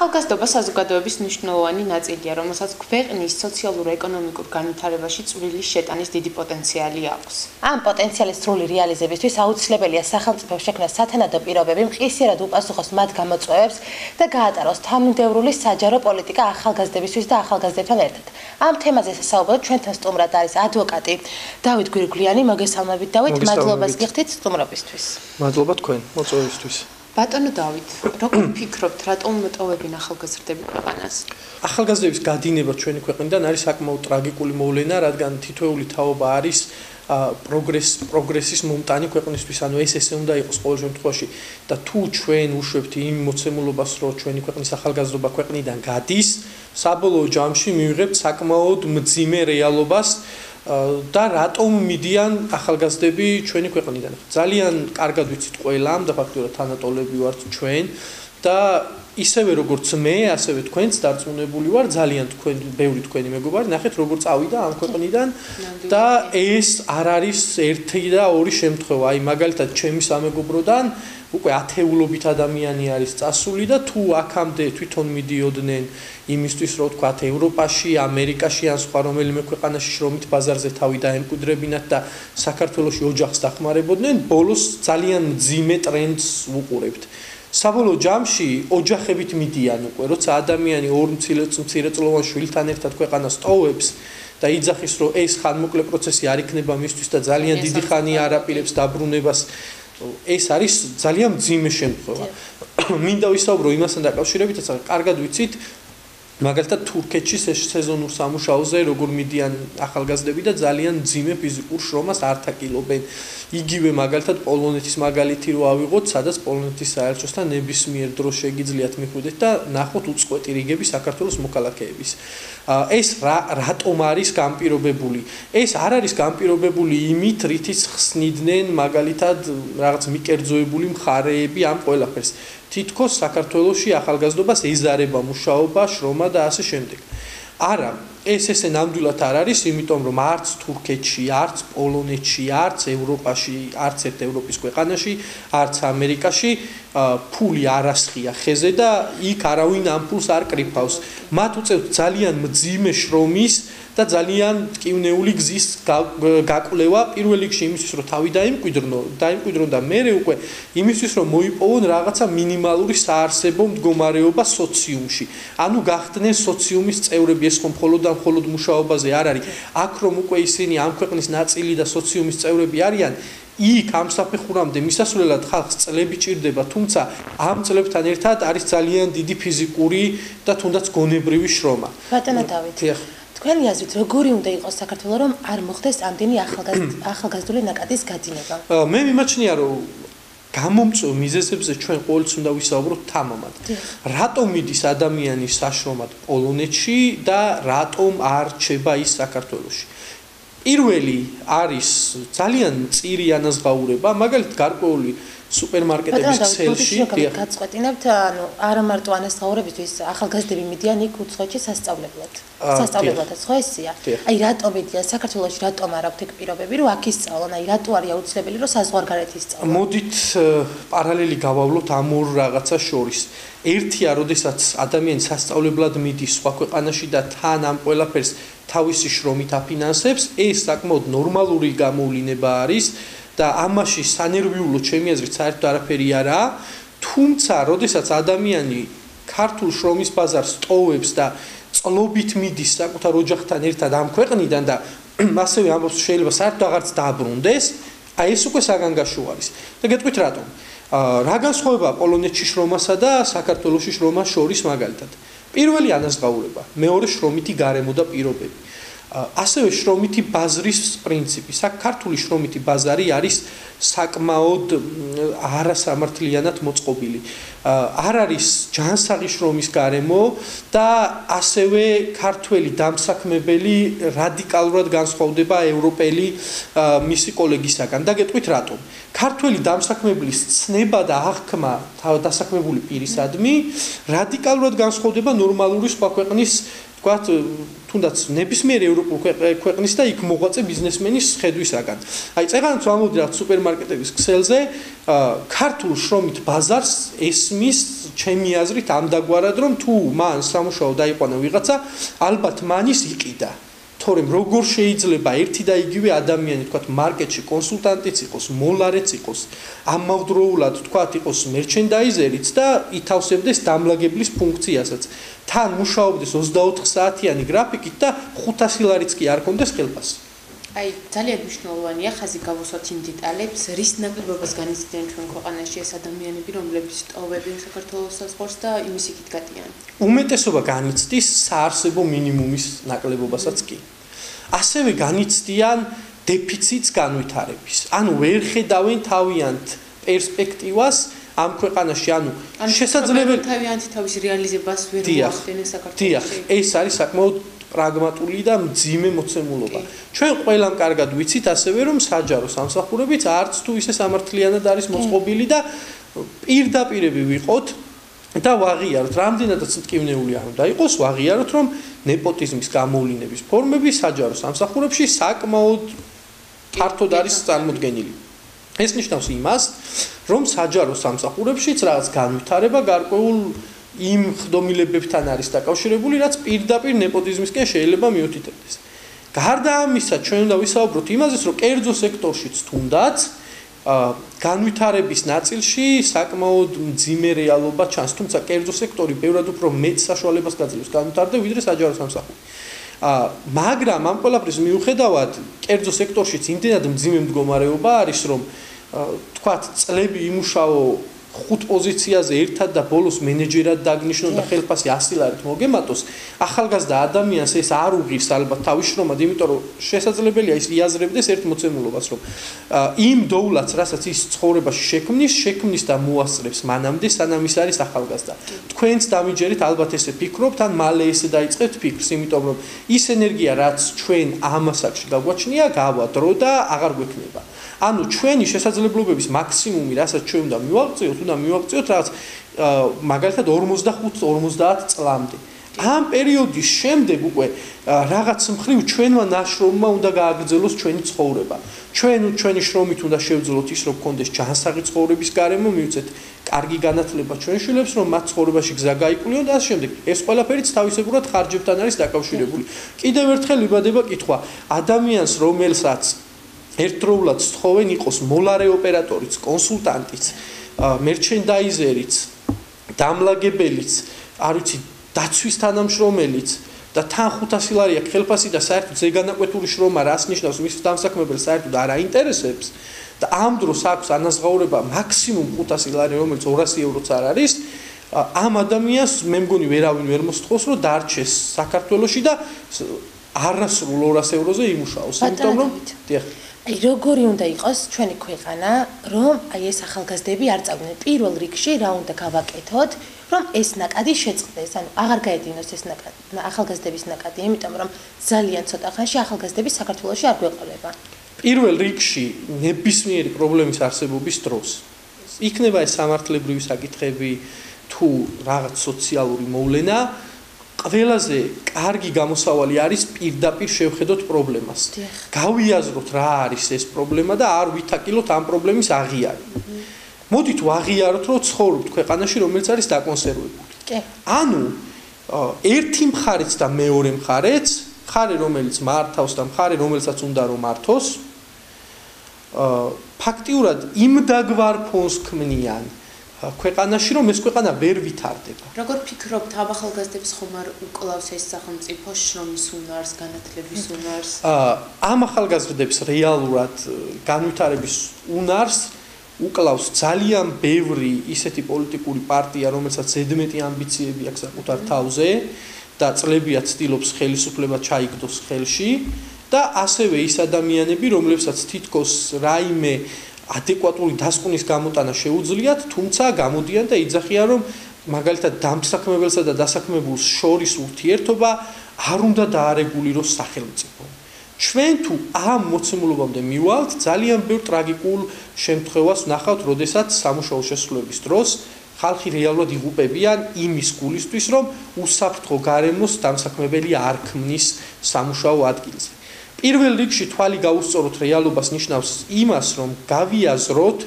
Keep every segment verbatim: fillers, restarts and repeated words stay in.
ახალგაზრდობა საზოგადოების მნიშვნელოვანი ნაწილია, რომელსაც ქვეყნის სოციალურ-ეკონომიკურ განვითარებაში წვრილი შეტანის დიდი პოტენციალი აქვს. ამ პოტენციალის სრული რეალიზებისთვის აუცილებელია სახელმწიფო შექმნას სათანადო პირობები, მყისიერად უპასუხოს მათ გამოწვევებს და გაატაროს თანმიმდევრული საჯარო პოლიტიკა ახალგაზრდებისთვის და ახალგაზრდებთან ერთად. ამ თემაზე სასაუბრად ჩვენთან სტუმრად არის ადვოკატი დავით გვირგვლიანი. მოგესალმებით დავით, მადლობას გიხდით სტუმრობისთვის. მადლობა თქვენ მოწვევისთვის. ბატონო დავით, როგორ ფიქრობთ, რატომ მოტოვებენ ახალგაზრდები ქვეყანას? ახალგაზრდების გადინება ჩვენი ქვეყნიდან არის საკმაოდ ტრაგიკული მოვლენა, რადგან თითოეული თაობა არის პროგრეს პროგრესის მომტანი ქვეყნისთვის, ანუ ეს ესე უნდა იყოს ყოველ შემთხვევაში და თუ ჩვენ უშვებთ იმ მოცემულობას, რომ ჩვენი ქვეყნის ახალგაზრდობა ქვეყნიდან გადის, საბოლოო ჯამში მივიღებთ საკმაოდ მძიმე რეალობას და რატომ მიდიან ახალგაზრდები ჩვენი ქვეყნიდან. ძალიან კარგად ვიცით ყველამ და ფაქტობრივად თანატოლები ვართ ჩვენ და ისევე როგორც მე, ასევე თქვენც დარწმუნებული ვარ, ძალიან თქვენ ბევრი თქვენი მეგობარი ნახეთ როგორ წავიდა ამ ქვეყნიდან და ეს არ არის ერთი და ორი შემთხვევა. აი მაგალითად ჩემი სამეგობროდან უკვე ათეულობით ადამიანი არის წასული და თუ აქამდე თვითონ მიდიოდნენ იმისთვის, რომ თქვათ ევროპაში, ამერიკაში ან სხვა რომელიმე ქვეყანაში შრომით ბაზარზე თავი დაემკვიდრებინათ და საქართველოში ოჯახს დახმარებოდნენ, ბოლოს ძალიან მძიმე ტრენდს ვუყურებთ. საბოლოო ჯამში ოჯახებით მიდიან უკვე, როცა ადამიანი ორ მცირეწლოვან შვილთან ერთად ქვეყანას ტოვებს და იძახის, რომ ეს ხანმოკლე პროცესი არ იქნება მისთვის და ძალიან დიდი ხანი არ აპირებს დაბრუნებას, ეს არის ძალიან მძიმე შემთხვევა. მინდა ვისაუბრო იმასთან დაკავშირებით, რასაც კარგად ვიცით, მაგალითად თურქეთში სეზონურ სამუშაოზე როგორ მიდიან ახალგაზრდები და ძალიან მძიმე ფიზიკურ შრომას არ თაკილობენ. იგივე მაგალითად პოლონეთის მაგალითი რო ავიღოთ, სადაც პოლონეთის საელჩოსთან ნებისმიერ დროს შეგიძლიათ მიხვიდეთ და ნახოთ უწყვეტი რიგები საქართველოს მოქალაქეების. ეს რატომ არის განპირობებული? ეს არ არის განპირობებული იმით, რითიც ხსნიდნენ მაგალითად რაღაც მიკერძოებული მხარეები ამ ყველაფერს. თითქოს საქართველოში ახალგაზრდობას ეზარება მუშაობა, შრომა და ასე შემდეგ. არა, ეს ესე ნამდვილად არ არის, იმიტომ რომ არც თურქეთში, არც პოლონეთში, არც ევროპაში, არც ერთ ევროპის ქვეყანაში, არც ამერიკაში ფული არ ასხია ხეზე და იქ არავინ ამ ფულს არ კრიფავს. მათ უწევთ ძალიან მძიმე შრომის და ძალიან ტკივნეული გზის გაკვლევა პირველ რიგში იმისთვის, რომ თავი დაიმკვიდრნო, დაიმკვიდრონ და მერე უკვე იმისთვის, რომ მოიპოვონ რაღაცა მინიმალური საარსებო მდგომარეობა სოციუმში. ანუ გახდნენ სოციუმის წევრები, ეს ხომ მხოლოდ და მხოლოდ მუშაობაზე არ არის. აქ რომ უკვე ისინი ამ ქვეყნის ნაწილი და სოციუმის წევრები არიან, იქ ამ საფეხურამდე მისასვლელად ხალხს წლები ჭირდება, თუმცა ამ წლებთან ერთად არის ძალიან დიდი ფიზიკური და თუნდაც გონებრივი შრომა. ბატონო დავით, თქვენი აზრით როგორი უნდა იყოს საქართველო, რომ არ მოხდეს ამდენი ახალგაზრდული ნაკადის გადინება? მე მიმაჩნია, რომ გამომწვევ მიზეზებზე ჩვენ ყოველთვის უნდა ვისაუბროთ თამამად. რატომ მიდის ადამიანი საშრომად პოლონეთში და რატომ არ რჩება ის საქართველოში? პირველი არის ძალიან მწირი ანაზღაურება, მაგალითად გარკვეული სუპერმარკეტების ქსელში გაწყვეტინებთ, ანუ არა მარტო ანაზღაურებისთვის ახალგაზრდები მიდიან იქ უცხოეთში სასწავლებლად. სასწავლებლადაც ხო ესეა? აი რატომ მიდიან საქართველოში, რატომ არ აქვთ ეგ პირობები, რომ აქ ისწავლონ? აი რატო არის აუცილებელი, რომ საზღვარგარეთ ისწავლონ? მოდით პარალელი გავავლოთ ამ ორ რაღაცას შორის. ერთია, როდესაც ადამიანი სასწავლებლად მიდის სხვა ქვეყანაში და თან ამ ყველაფერს თავისი შრომით აფინანსებს, ეს საკმაოდ ნორმალური გამოვლინება არის და ამაში სანერვიულო ჩემი აზრით საერთოდ არაფერი არაა, თუმცა როდესაც ადამიანი ქართულ შრომის ბაზარს ტოვებს და წლობით მიდის საკუთარ ოჯახთან ერთად ამ ქვეყნიდან და ასევე ამბობს შეიძლება საერთოდ აღარც დააბრუნდეს, აი ეს უკვე საგანგაშო არის. და გეტყვით რატომ? რა განსხვავება პოლონეთში შრომასა და საქართველოში შრომას შორის მაგალითად? პირველი ანაზღაურება, მეორე შრომითი გარემო და პირობები. ასევე შრომითი ბაზრის პრინციპი. ქართული შრომითი ბაზარი არის საკმაოდ არასამართლიანად მოწყობილი. არ არის ჯანსაღი შრომის გარემო და ასევე ქართველი დამსაქმებელი რადიკალურად განსხვავდება ევროპელი მისი კოლეგისაგან. და გეტყვით რატომ? ქართველი დამსაქმებლის ცნება და აღქმა დასაქმებული პირისადმი რადიკალურად განსხვავდება ნორმალური სხვა ქვეყნის ვთქვათ, თუნდაც ნებისმიერი ევროპულ ქვეყნის და იქ მოღვაწე ბიზნესმენის ხედვისაგან. აი, წეგანაც ვამბობდი რა სუპერმარკეტების ქსელზე, ქართულ შრომით ბაზარს ესმის ჩემი აზრით ამდაგვარად, რომ თუ მან სამუშაო დაიყვანა ვიღაცა, ალბათ მანის იყიდა. თორემ როგორ შეიძლება ერთი და იგივე ადამიანი, თქვათ, მარკეტში კონსულტანტიც იყოს, მოლარეც იყოს, ამავდროულად, თქვათ, იყოს მერჩენდაიზერიც და ითავსებდეს დამლაგებლის ფუნქციასაც. თან მუშაობდეს ოცდაოთხ საათიანი გრაფიკით და ხუთასი ლარიც კი არ კონდეს ხელფასი. აი, ძალიან მნიშვნელოვანია ხაზი გავუსვათ იმ დეტალებს, რის ნაკლებობას განიცდიან ჩვენ ქვეყანაში ეს ადამიანები, რომლებიც ტოვებენ საქართველოს საზღვარს და იმის იქით გატიან. უმეტესობა განიცდის საარსებო მინიმუმის ნაკლებობასაც კი. ასევე განიცდიან დეფიციტს განვითარების. ანუ ვერ ხედავენ თავიანთ პერსპექტივას ამ ქვეყანაში, ანუ შესაძლებელი თავიანთი თავის რეალიზებას ვერ მოახდენენ საქართველოში. დიახ, ეს არის საკმაოდ პრაგმატული და მძიმე მოცემულობა. ჩვენ ყველამ კარგად ვიცით ასევე რომ საჯარო სამსახურებიც არც თუ ისე სამართლიანად არის მოწყობილი და პირდაპირები ვიყოთ და ვაღიაროთ, რამდენადაც მტკივნეული არ უნდა იყოს, ვაღიაროთ რომ ნეპოტიზმის გამოვლინების ფორმები საჯარო სამსახურებში საკმაოდ ფართოდ არის წარმოდგენილი. ეს ნიშნავს იმას, რომ საჯარო სამსახურებშიც რაღაც განვითარება გარკვეულ იმ ხდომილებებთან არის დაკავშირებული, რაც პირდაპირ ნეპოტიზმისკენ შეიძლება მიუთითებდეს. გარდა ამისა, ჩვენ უნდა ვისაუბროთ იმაზეც, რომ კერძო სექტორშიც თუნდაც განვითარების ნაწილში საკმაოდ მძიმე რეალობა ჩანს, თუმცა კერძო სექტორი ბევრად უფრო მეტ საშუალებას გაძლევს განვითარდა, ვიდრე საჯარო სამსახური. მაგრამ ამ ყველაფრის მიუხედავად, კერძო სექტორშიც იმდენად მძიმე მდგომარეობა არის, რომ თქვათ, წლები იმუშაო ხუთ პოზიციაზე ერთად და ბოლოს მენეჯერად დაგნიშნონ და ხელფასი ასი ლარით მოგემატოს, ახალგაზრდა ადამიანს ეს არ უღირს ალბათ თავის შრომად, იმიტომ რომ შესაძლებელია ის იაზრებდეს ერთ მოცემულობას, რომ იმ დოულაც, რასაც ის ცხოვრებაში შექმნის, შექმნის და მოასწრებს მანამდე, სანამ ის არის ახალგაზრდა. თქვენც დამიჯერით ალბათ ესე ფიქრობთ, ან მალე ესე დაიწყებთ ფიქრს, იმიტომ რომ ის ენერგია, რაც ჩვენ ამ ასაკში გაგვაჩნია, გავა დრო და აღარ გვექნება. ანუ ჩვენი შესაძლებლობების მაქსიმუმი, რასაც ჩვენ უნდა მივაღწიოთ, უნდა მივაღწიოთ რაღაც მაგალითად ორმოცდახუთ ორმოცდაათ წლამდე. ამ პერიოდის შემდეგ უკვე რაღაც მხრივ ჩვენმა ნაშრომმა უნდა გააგრძელოს ჩვენი ცხოვრება. ჩვენ ჩვენი შრომით უნდა შევძლოთ ის, რომ გქონდეს ჯანსაღი ცხოვრების გარემო, მივცეთ კარგი განათლება ჩვენ შვილებს, რომ მათ ცხოვრებაში გზა გაიკვლიონ და ამ შემდეგ. ეს ყველაფერიც თავისებურად ხარჯებთან არის დაკავშირებული. კიდევ ერთხელ ვიბადება კითხვა, ადამიანს რომელსაც ერთდროულად სწხოვენ იყოს მოლარე ოპერატორიც, კონსულტანტიც, მერჩენდაიზერიც, დამლაგებელიც, არ ვიცი, დაცვის თანამშრომელიც და თან ხუთასი ლარი აქვს ხელფასი და საერთოდ ზეგანაკვეთური შრომა რას ნიშნავს, მის დამსაქმებელს საერთოდ არ აინტერესებს და ამ დროს აქვს ანაზღაურება მაქსიმუმ ხუთასი ლარი, რომელიც ორასი ევროც არ არის, ამ ადამიანს მე მგონი ვერავინ ვერ მოსთხოვს, რომ დარჩეს საქართველოში და არასრულ ორას ევროზე იმუშაოს, იმიტომ რომ დიახ აი როგორი უნდა იყოს ჩვენი ქვეყანა, რომ აი ეს ახალგაზრდები არ წავდნენ პირველ რიგში, რა უნდა გავაკეთოთ, რომ ეს ნაკადი შეწყდეს, ანუ აღარ გაედინოს ეს ნაკადი, ახალგაზრდების ნაკადი, იმიტომ რომ ძალიან ცოტა ხანში ახალგაზრდები საქართველოში არ გვეყოლება. პირველ რიგში ნებისმიერი პრობლემის არსებობის დროს იქნება ეს სამართლებრივი საკითხები თუ რაღაც სოციალური მოვლენა, ყველაზე კარგი გამოსავალი არის პირდაპირ შევხედოთ პრობლემას. გავიაზროთ რა არის ეს პრობლემა და არ ვითაკილოთ ამ პრობლემის აღიარი. მოდით ვაღიაროთ, რომ ცხოვრობთ ქვეყანაში, რომელიც არის დაკონსერვებული. ანუ ერთი მხარეც და მეორე მხარეც, მხარე რომელიც მართავს და მხარე რომელსაც უნდა რომ მართოს, ფაქტიურად იმ დაგვარ ფონს ქმნიან ქვეყანაში, რომ ეს ქვეყანა ვერ ვითარდება. როგორ ფიქრობთ, ამ ახალგაზრდებს ხომ არ უკლავს ეს სახელმწიფო შრომის უნარს, განათლების უნარს? ამ ახალგაზრდებს რეალურად განვითარების უნარს უკლავს ძალიან ბევრი ისეთი პოლიტიკური პარტია, რომელსაც ზედმეტი ამბიციები აქვს საკუთარ თავზე და წლებია ცდილობს ხელისუფლება ჩაიგდოს ხელში და ასევე ის ადამიანები, რომლებსაც თითქოს რაიმე ადეკვატური დასკვნის გამოტანა შეუძლიათ, თუმცა გამოდიან და იძახიან, რომ მაგალითად დამსაქმებელსა და დასაქმებულს შორის ურთიერთობა არ უნდა დაარეგულიროს სახელმწიფო. ჩვენ თუ ამ მოცემულობამდე მივალთ, ძალიან ბევრ ტრაგიკულ შემთხვევას ვნახავთ, როდესაც სამუშაო შესრულების დროს ხალხი რეალურად იღუპებიან იმის გულისთვის, რომ უსაფრთხო გარემოს დამსაქმებელი არ ქმნის სამუშაო ადგილზე. პირველ რიგში თვალი გაუსწოროთ რეალობას ნიშნავს იმას, რომ გავიაზროთ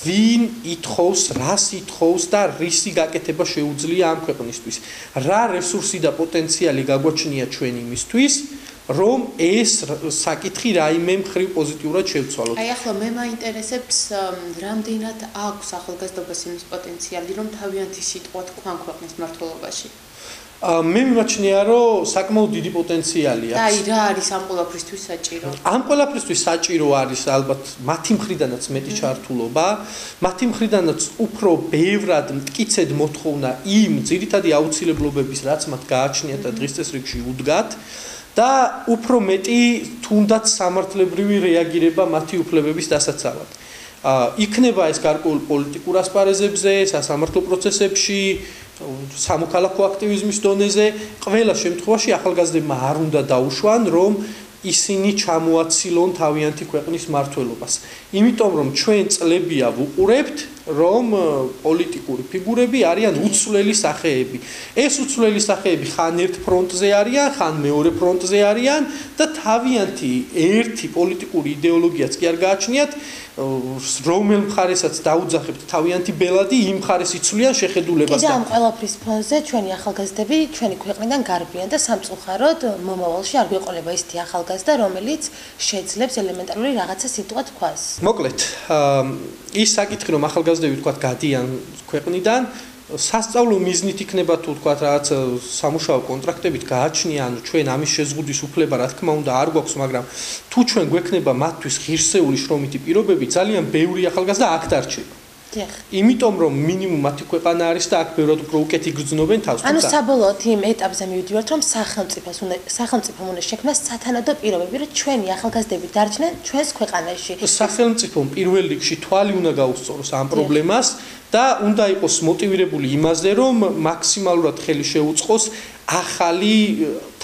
ვინ ითხოვს, რას ითხოვს და რისი გაკეთება შეუძლია ამ ქვეყნისთვის. რა რესურსი და პოტენციალი გაგვაჩნია ჩვენ იმისთვის, რომ ეს საკითხი რაიმე მხრივ პოზიტიურად შევცვალოთ. აი ახლა მე მაინტერესებს რამდენად აქვს ახალგაზრდობას იმის პოტენციალი, რომ თავიანთი სიტყვა თქვან ქვეყნის მმართველობაში. მე მიმაჩნია, რომ საკმაოდ დიდი პოტენციალი აქვს. და აი რა არის ამ ყველაფრისთვის საჭირო? ამ ყველაფრისთვის საჭირო არის ალბათ მათი მხრიდანაც მეტი ჩართულობა, მათი მხრიდანაც უფრო ბევრად მტკიცედ მოთხოვნა იმ ძირითადი აუცილებლობების, რაც მათ გააჩნიათ და დღის წესრიგში უდგათ. და უფრო მეტი თუნდაც სამართლებრივი რეაგირება მათი უფლებების დასაცავად. იქნება ეს გარკვეულ პოლიტიკურ ასპარეზებზე, სასამართლო პროცესებში, სამოქალაქო აქტივიზმის დონეზე, ყველა შემთხვევაში ახალგაზრდებმა არ უნდა დაუშვან, რომ ისინი ჩამოაცილონ თავიანთი ქვეყნის მმართველობას. იმიტომ რომ ჩვენ წლებია ვუყურებთ, რომ პოლიტიკური ფიგურები არიან უცვლელი სახეები. ეს უცვლელი სახეები ხან ერთ ფრონტზე არიან, ხან მეორე ფრონტზე არიან და თავიანთი ერთი პოლიტიკური იდეოლოგიაც კი არ გააჩნიათ, რომელ მხარესაც დაუძახებთ თავიანთი ბელადი, იმ მხარეს იცვლიან შეხედულებას და ამ ყველაფრის ფონზე ჩვენი ახალგაზრდები ჩვენი ქვეყნიდან გარბიან და სამწუხაროდ მომავალში არ გვეყოლება ისეთი ახალგაზრდა, რომელიც შეძლებს ელემენტარული რაღაცა სიტყვა თქვას. მოკლედ, ის საკითხი რომ ახალგაზრდები თქვათ გადიან ქვეყნიდან, სასწავლო მიზნით იქნება თუ თქვათ რაღაც სამუშაო კონტრაქტებით გააჩნია, ანუ ჩვენ ამის შეზღუდვის უფლება რა თქმა უნდა არ გვაქვს, მაგრამ თუ ჩვენ გვექნება მათთვის ღირსეული შრომითი პირობები, ძალიან ბევრი ახალგაზრდა აქ დარჩება. იმიტომ რომ მინიმუმ მათი ქვეყანა არის და აქ ბევრად უფრო უკეთ იგრძნობენ თავს. ანუ საბოლოოდ იმ ეტაპზე მივიდივართ, რომ სახელმწიფოს უნდა სახელმწიფომ უნდა შექმნას სათანადო პირობები, რომ ჩვენი ახალგაზრდები დარჩნენ ჩვენს ქვეყანაში. სახელმწიფომ პირველ რიგში თვალი უნდა გაუსწოროს ამ პრობლემას და უნდა იყოს მოტივირებული იმაზე, რომ მაქსიმალურად ხელი შეუწყოს ახალი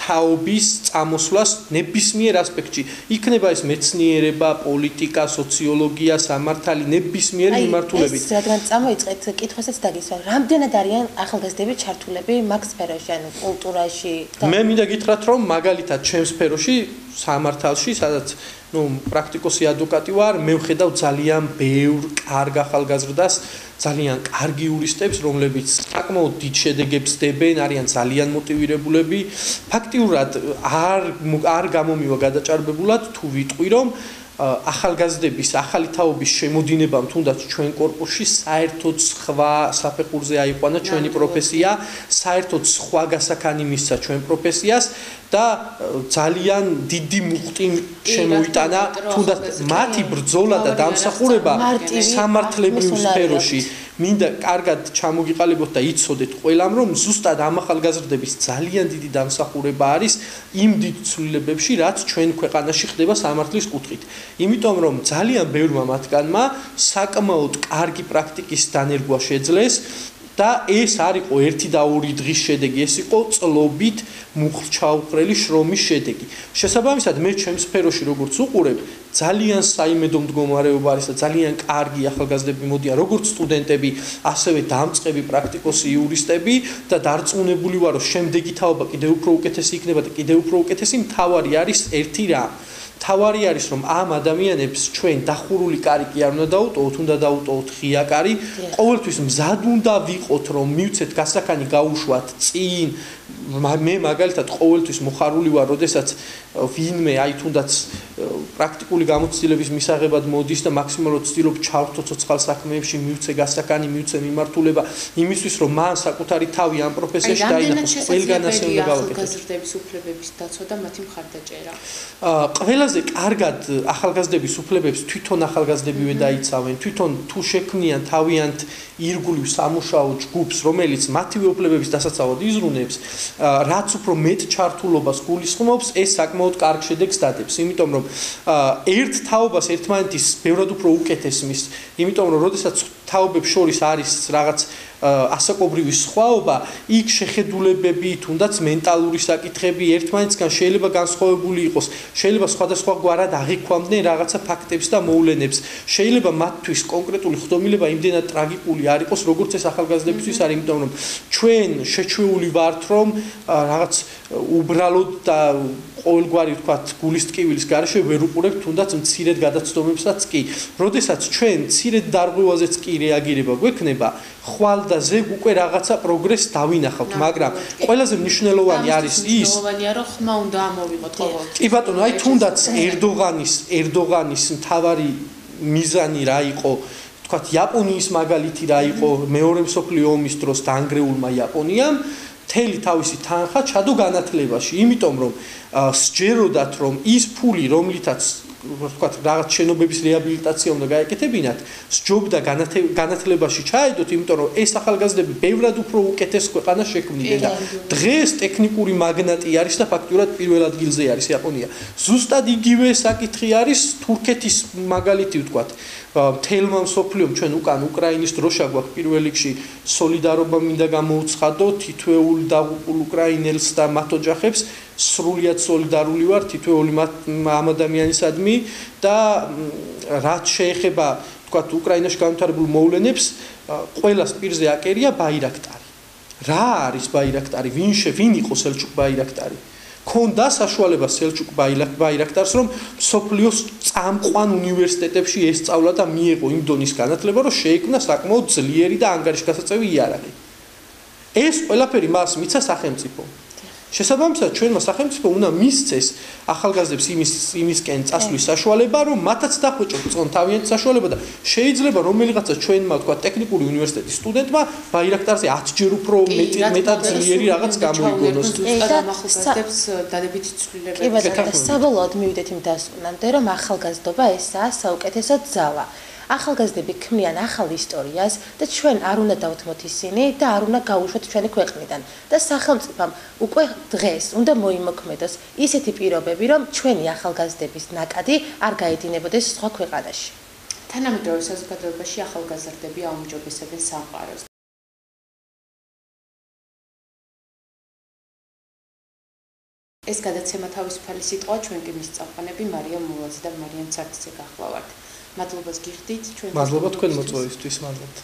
თაობის წამოსვლას ნებისმიერ ასპექტში. იქნება ეს მეცნიერება, პოლიტიკა, სოციოლოგია, სამართალი, ნებისმიერი მიმართულებით. ეს რადგან წამოიწყეთ, კითხვასაც დაგისვა, რამდენად არიან ახალგაზრდები ჩართულები მაგ სფეროში, ანუ კულტურაში? მე მინდა გითხრათ, რომ მაგალითად ჩემ სფეროში, სამართალში, სადაც ну პრაქტიკოსი ადვოკატი ვარ, მე ვხედავ ძალიან ბევრ კარგ ახალგაზრდას, ძალიან კარგი იურისტებს, რომლებიც საკმაოდ დიდ შედეგებს დებენ, არიან ძალიან მოტივირებულები. ფაქტიურად არ არ გამომივა გადაჭარბებულად თუ ვიტყვი, რომ ახალგაზრდების ახალი თაობის შემოდინებამ თუნდაც ჩვენ კორპუსში საერთოდ სხვა საფეხურზე აიყვანა ჩვენი პროფესია, საერთოდ სხვა გასაქანი მისცა ჩვენ პროფესიას და ძალიან დიდი მუხტი შემოიტანა თუნდაც მათი ბრძოლა და დამსახურება სამართლებრივ სფეროში. მინდა კარგად ჩამოგიყალიბოთ და იცოდეთ ყველამ, რომ ზუსტად ამ ახალგაზრდების ძალიან დიდი დამსახურება არის იმ დიდ ცვლილებებში, რაც ჩვენ ქვეყანაში ხდება სამართლის კუთხით. იმიტომ რომ ძალიან ბევრმა მათგანმა საკმაოდ კარგი პრაქტიკის დანერგვა შეძლეს და ეს არ იყო ერთი და ორი დღის შედეგი, ეს იყო წლობით მუხლჩაუყრელი შრომის შედეგი. შესაბამისად, მე ჩემ სფეროში როგორც უყურებ, ძალიან საიმედო მდგომარეობა არის და ძალიან კარგი ახალგაზრდები მოდიან, როგორც სტუდენტები, ასევე დამწყები პრაქტიკოსი იურისტები და დარწმუნებული ვარ, რომ შემდეგი თაობა კიდევ უფრო უკეთესი იქნება და კიდევ უფრო უკეთესი. მთავარი არის ერთი რამ. თავარი არის რომ ამ ადამიანებს ჩვენ დახურული კარი კი არ უნდა დაუტოვოთ, უნდა დაუტოვოთ ღია კარი. ყოველთვის მზად უნდა ვიყოთ რომ მივცეთ გასაქანი გაუშვათ წინ. მე მაგალითად ყოველთვის მოხარული ვარ, როდესაც ვინმე აი თუნდაც პრაქტიკული გამოცდილების მისაღებად მოდის და მაქსიმალურად ცდილობ ჩავრთო ცოცხალ საქმეებში, მივცე გასაქანი, მივცე მიმართულება, იმისთვის რომ მან საკუთარი თავი ამ პროფესიაში დაინახოს. ყველგან ასე უნდა გავაკეთოთ. ახალგაზრდების უფლებების დაცვა და მათი მხარდაჭერა. ყველაზე კარგად ახალგაზრდების უფლებებს თვითონ ახალგაზრდებივე დაიცავენ, თვითონ თუ შექმნიან თავიანთ ირგვლივ სამუშაო ჯგუფს, რომელიც მათივე უფლებების დასაცავად იზრუნებს, რაც უფრო მეტ ჩართულობას გულისხმობს, ეს საკმაოდ კარგ შედეგს დადებს. იმიტომ რომ ერთ თაობას ერთმანეთის ბევრად უფრო უკეთესმის, იმიტომ რომ როდესაც თაობებს შორის არის რაღაც ასაკობრივი სხვაობა, იქ შეხედულებები, თუნდაც მენტალური საკითხები ერთმანეთსგან შეიძლება განსხვავებული იყოს, შეიძლება სხვადასხვაგვარად აღიქვამდნენ რაღაცა ფაქტებს და მოვლენებს, შეიძლება მათთვის კონკრეტული ხდომილება იმდენად ტრაგიკული არ იყოს, როგორც ეს ახალგაზრდებისთვის არის, იმიტომ რომ ჩვენ შეჩვეული ვართ, რომ რაღაც უბრალოდ და ყოველგვარი ვთქვათ გულის ტკივილის გარეშე ვერ უყურებთ თუნდაც მცირედ გადაცდომებსაც კი. როდესაც ჩვენ მცირედ დარღვევაზეც კი რეაგირება გვექნება, ხვალ და ზეგ უკვე რაღაცა პროგრესს დავინახავთ, მაგრამ ყველაზე მნიშვნელოვანი არის ის, მნიშვნელოვანია რომ ხმა უნდა ამოვიღოთ ყოველთვის. კი ბატონო, აი თუნდაც ერდოღანის ერდოღანის მთავარი მიზანი რა იყო, ვთქვათ იაპონიის მაგალითი რა იყო მეორე მსოფლიო ომის დროს დაანგრეულმა იაპონიამ მთელი თავისი თანხა ჩადო განათლებაში, იმიტომ რომ სჯეროდათ რომ ის ფული, რომლითაც ვთქვათ რაღაც შენობების რეაბილიტაცია უნდა გაეკეთებინათ, სჯობდა განათლებაში ჩაედოთ, იმიტომ რომ ეს ახალგაზრდები ბევრად უფრო უკეთეს ქვეყანას შექმნიდნენ და დღეს ტექნიკური მაგნატი არის და ფაქტურად პირველ ადგილზე არის იაპონია. ზუსტად იგივე საკითხი არის თურქეთის მაგალითი ვთქვათ. მთელმა მსოფლიომ ჩვენ უკან უკრაინის დროშა გვაქვს პირველ რიგში სოლიდარობა მინდა გამოუცხადო თითოეულ დაღუპულ უკრაინელს და მათ ოჯახებს სრულიად სოლიდარული ვარ თითოეული ამ ადამიანისადმი და რაც შეეხება ვთქვათ უკრაინაში განვითარებულ მოვლენებს ყველას პირზე აკერია ბაირაქტარი. რა არის ბაირაქტარი? ვინ შე ვინ იყო სელჩუკ ბაირაქტარი? ქონდა საშუალება სელჩუკ ბაირაქტარს რომ სოფლიოს წამყვან უნივერსიტეტებში ესწავლა და მიეღო იმ დონის განათლება რომ შეიქმნა საკმაოდ ძლიერი და ანგარიშგასაწევი იარაღი. ეს ყველაფერი მას მიცა სახელმწიფო. შესაბამისად ჩვენმა სახელმწიფო უნდა მისცეს ახალგაზრდებს იმის იმისკენ წასვლის საშუალება რომ მათაც დახვეჭოთ წონ თავიანთი საშუალება და შეიძლება რომელიღაცა ჩვენმა თქვა ტექნიკური უნივერსიტეტის სტუდენტმა ბაირაქტარზე ათჯერ უფრო მეტი მეტად ძლიერი რაღაც გამოიგონოს და ახალგაზრდებს დადებითი ცვლილებები. კი ბატონო, საბოლოოდ მივიდეთ იმ დასკვნამდე რომ ახალგაზრდობა ესაა საუკეთესო ძალა. ახალგაზრდები ქმნიან ახალ ისტორიას და ჩვენ არ უნდა დავთმოთ ისინი და არ უნდა გაუშვათ ჩვენი ქვეყნიდან და სახელმწიფომ უკვე დღეს უნდა მოიმოქმედოს ისეთი პირობები რომ ჩვენი ახალგაზრდების ნაკადი არ გაედინებოდეს სხვა ქვეყანაში. თანამედროვე საზოგადოებაში ახალგაზრდები აუმჯობესებენ სამყაროს. ეს გადაცემა თავისუფალი სიტყვა ჩვენ კი მისწავყანები მარიამ მულაძე და მარიამ ცარცე გახლავართ. მადლობას გიხდით ჩვენ მადლობა თქვენ მოწვევისთვის, მადლობთ.